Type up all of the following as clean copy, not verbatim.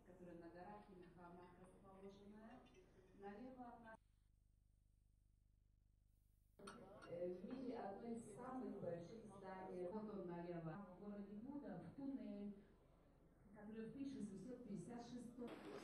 Которая на горах и на холмах расположенная. Налево от нас в мире одно из самых больших зданий. Вот он налево. В городе Буда, в туннель, который в 1656 году.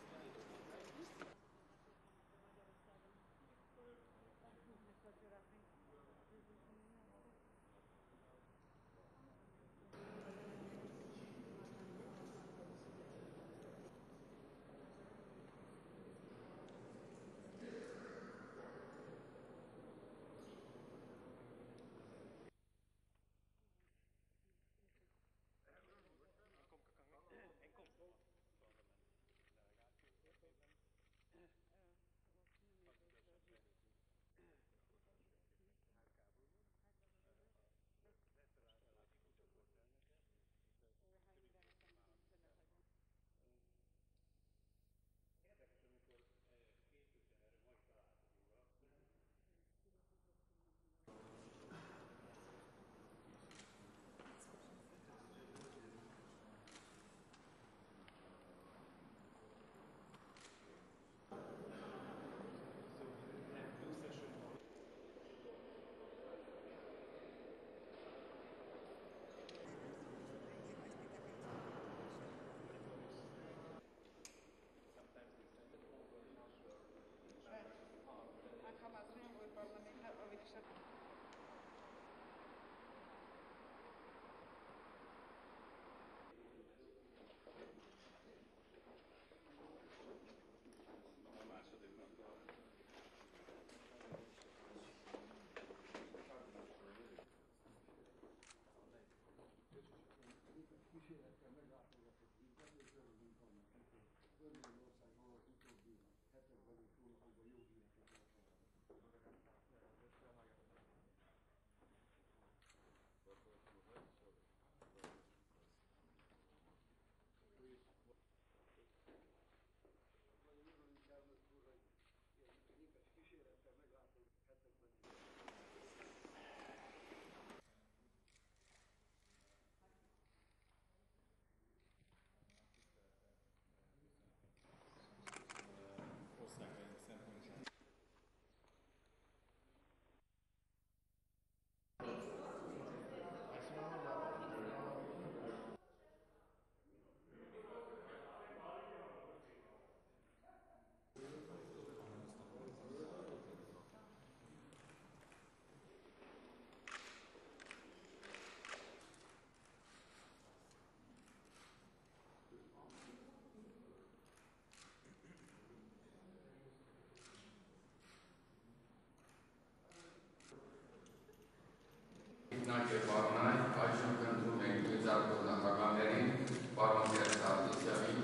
Իգնատիե Պարոնայք, այժմ կնդրում ենք մեծարգո նախագահներին, պարոն Գերստատիսյավին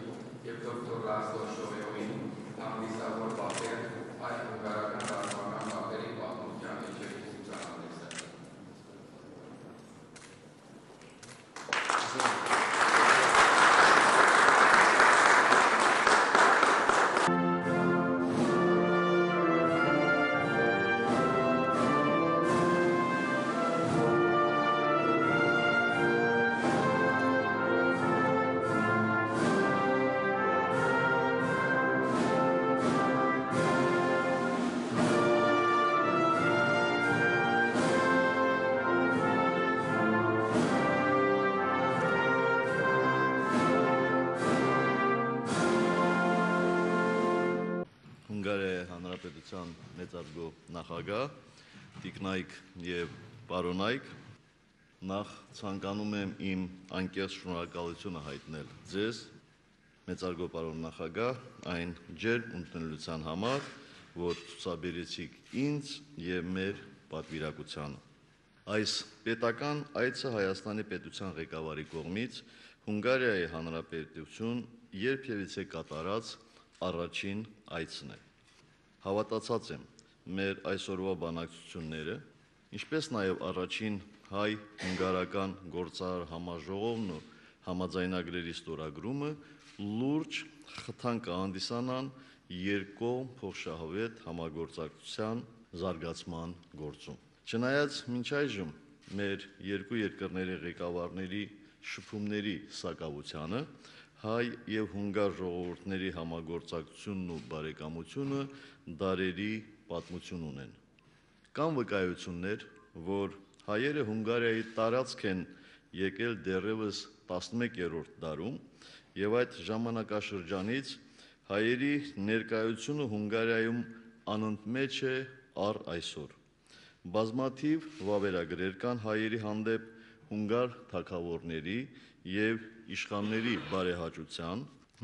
և դոկտոր Լասլո Շովեովին հանդիսավոր պատեր այդ հունգարական ռազմական պատերի պատմության եջերի ցուցահանդեսը։ Հունգարիայի Հանրապետության մեծարգո նախագահ, տիկնայք և պարոնայք, նախ ցանկանում եմ իմ անկեղծ շնորհակալությունը հայտնել ձեզ, մեծարգո պարոն նախագահ, այն ջերմ ընդունելության համար, որ ցուցաբերեցիք ինձ և մեր պատվիրակությանը։ Այս պետական այցը Հայաստանի պետության ղեկավարի կողմից Հունգարիայի Հանրապետություն երբևիցե կատարած առաջին այցն է։ Հավատացած եմ, մեր այսօրվա բանակցությունները, ինչպես նաև առաջին հայ-հունգարական գործարար համաժողովն ու համաձայնագրերի ստորագրումը լուրջ խթան կհանդիսանան երկկողմ փոխշահավետ համագործակցության զարգացման գործում։ Չնայած մինչ այժմ մեր երկու երկրների ղեկավարների շփումների սակավությանը, հայ եւ հունգար ժողովուրդների համագործակցությունն ու բարեկամությունը դարերի պատմություն ունեն։ Կան վկայություններ, որ հայերը Հունգարիայի տարածք են եկել դեռևս 11-րդ դարում եւ այդ ժամանակաշրջանից հայերի ներկայությունը Հունգարիայում անընդմեջ է առ այսօր։ Բազմաթիվ վավերագրեր կան հայերի հանդեպ հունգար թագավորների եւ իշխանների բարեհաճության,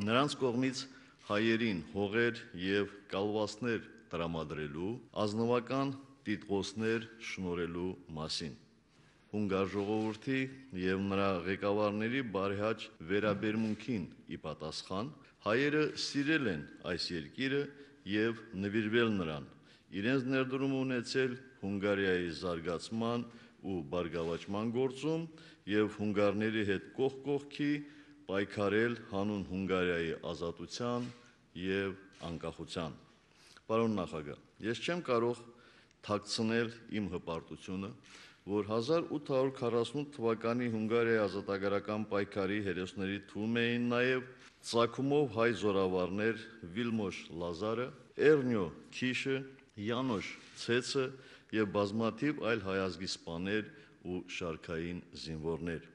նրանց կողմից հայերին հողեր եւ կալվածներ տրամադրելու, ազնվական տիտղոսներ շնորհելու մասին։ Հունգար ժողովրդի եւ նրա ղեկավարների բարեհաճ վերաբերմունքին ի պատասխան հայերը սիրել են այս երկիրը եւ նվիրվել նրան, իրենց ներդրումը ունեցել Հունգարիայի զարգացման ու բարգավաճման գործում եւ հունգարների հետ կողք կողքի պայքարել հանուն Հունգարիայի ազատության եւ անկախության։ Պարոն նախագահ, ես չեմ կարող թաքցնել իմ հպարտությունը, որ 1848 թվականի Հունգարիայի ազատագրական պայքարի հերոսների թվում էին նաև ծագումով հայ զորավարներ Վիլմոշ Լազարը, Էռնյո Քիշը, Յանոշ Ցեցը եւ բազմաթիվ այլ հայազգի սպաներ ու շարքային զինվորներ։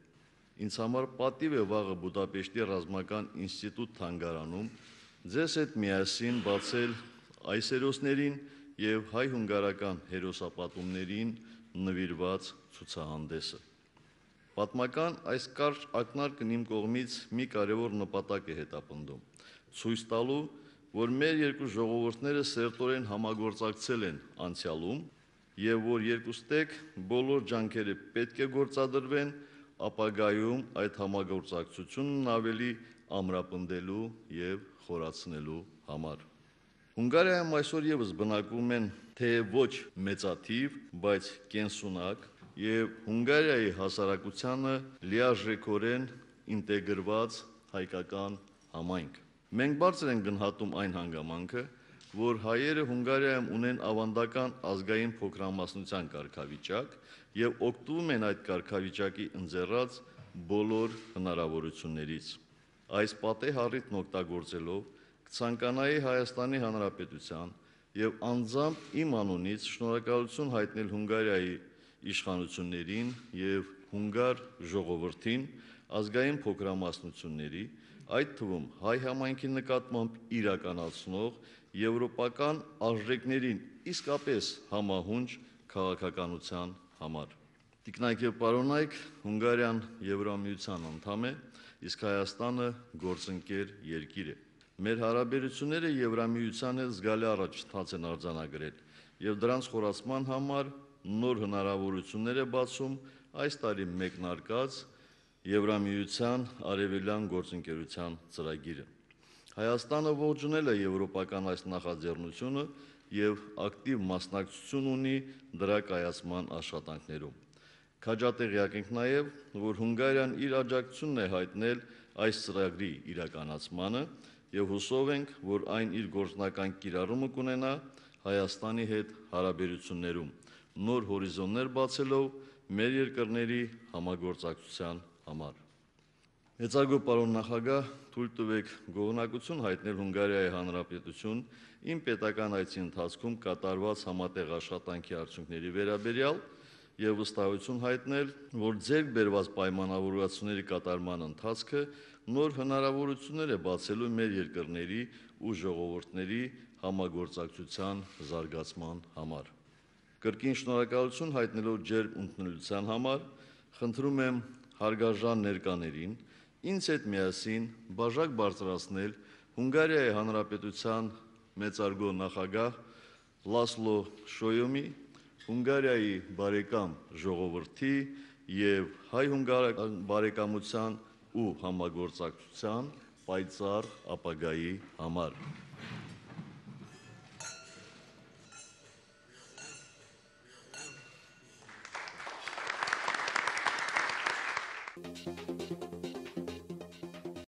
Ինձ համար պատիվ է վաղը Բուդապեշտի ռազմական ինստիտուտ թանգարանում ձեզ հետ միասին բացել այս հերոսներին եւ հայ-հունգարական հերոսապատումներին նվիրված ցուցահանդեսը։ Պատմական այս կարճ ակնարկն իմ կողմից մի կարևոր նպատակ է հետապնդում՝ ցույց տալու, որ մեր երկու ժողովուրդները սերտորեն համագործակցել են անցյալում եւ որ երկուստեք բոլոր ջանքերը պետք է գործադրվեն ապագայում այդ համագործակցությունն ավելի ամրապնդելու եւ խորացնելու համար։ Հունգարիայում այսօր եւս բնակվում են թեև ոչ մեծաթիվ, բայց կենսունակ եւ Հունգարիայի հասարակությանը լիարժեքորեն ինտեգրված հայկական համայնք։ Մենք բարձր ենք գնահատում այն հանգամանքը, որ հայերը Հունգարիայում ունեն ավանդական ազգային փոքրամասնության կարգավիճակ եւ օգտվում են այդ կարգավիճակի ընձեռած բոլոր հնարավորություններից։ Այս պատեհ առիթն օգտագործելով կցանկանայի Հայաստանի Հանրապետության եւ անձամբ իմ անունից շնորհակալություն հայտնել Հունգարիայի իշխանություններին եւ հունգար ժողովրդին, ազգային փոքրամասնությունների, այդ թվում հայ համայնքի նկատմամբ իրականացնող եվրոպական արժեքներին իսկապես համահունչ քաղաքականության համար։ Տիկնայք եւ պարոնայք, Հունգարիան Եվրամիության անդամ է, իսկ Հայաստանը գործընկեր երկիր է։ Մեր հարաբերությունները Եվրամիության հետ զգալի առաջընթաց են արձանագրել եւ դրանց խորացման համար նոր հնարավորություններ է բացում այս տարի մեկնարկած Եվրամիության արևելյան գործընկերության ծրագիրը։ Հայաստանը ողջունել է եվրոպական այս նախաձեռնությունը եւ ակտիվ մասնակցություն ունի դրա կայացման աշխատանքներում։ Քաջատեղյակ ենք նաեւ, որ Հունգարիան իր աջակցությունն է հայտնել այս ծրագրի իրականացմանը եւ հուսով ենք, որ այն իր գործնական կիրառումը կունենա Հայաստանի հետ հարաբերություններում, նոր հորիզոններ բացելով մեր երկրների համագործակցության համար։ Մեծարգո պարոն նախագահ, թույլ տվեք գոհունակություն հայտնել Հունգարիայի Հանրապետություն իմ պետական այցի ընթացքում կատարված համատեղ աշխատանքի արդյունքների վերաբերյալ եւ վստահություն հայտնել, որ ձեռք բերված պայմանավորվածությունների կատարման ընթացքը նոր հնարավորություններ է բացելու մեր երկրների ու ժողովուրդների համագործակցության զարգացման համար։ Կրկին շնորհակալություն հայտնելով ջերմ ընդունելության համար, խնդրում եմ հարգարժան ներկաներին ինձ հետ միասին բաժակ բարձրացնել Հունգարիայի Հանրապետության մեծարգո նախագահ Լասլո Շոյոմի, Հունգարիայի բարեկամ ժողովրդի եւ հայ-հունգարական բարեկամության ու համագործակցության պայծառ ապագայի համար։